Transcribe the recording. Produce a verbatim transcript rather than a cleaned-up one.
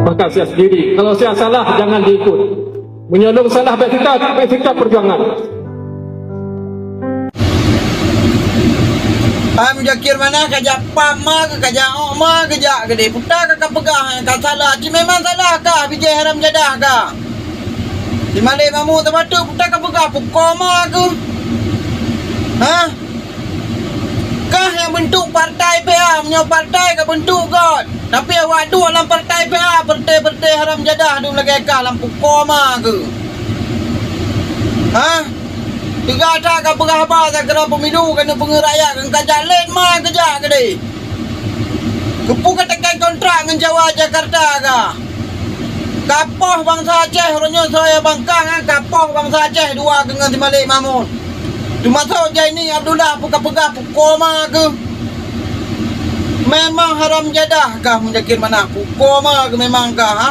Maka sia sendiri. Kalau sia salah, jangan diikut. Meunyoe lôn salah, bèk teuka, bèk teuka peujuangan. Hai Muzakir Manah, kajak pam ma keu, kajak ôk ma keu, jak keudéh. Peue ka kapeugah ka salah? Cit memang salah kah, bijèh haram jadah kah? Si Malek Mahmud teubacut, peue ka kapeugah, peuko ma keu? Hah? Kah nyang beuntuk partai P A, meunyoe partai ka beuntuk göt. Tapi awak duek lam partai P A, peureté-peureté haram jadah dum lagèe kah lam peuko ma keu. Hah? Teuga that kapeugah haba sakira pemilu keuneuk peungeut rakyat, keu kajak lét ma keu, jak keudéh. Keupeue kateukén kontrak ngon Jawa Jakarta kah? Kapoh bansa Aceh, uroe nyoe soe bangkang, kapoh bansa Aceh dua keu ngon si Malek Mahmud. Teumasok Zaini Abdullah, peue kapeugah, peuko ma keu? Memang haram jadah kah Muzakir Manah, peuko ma keu memang kah, ha?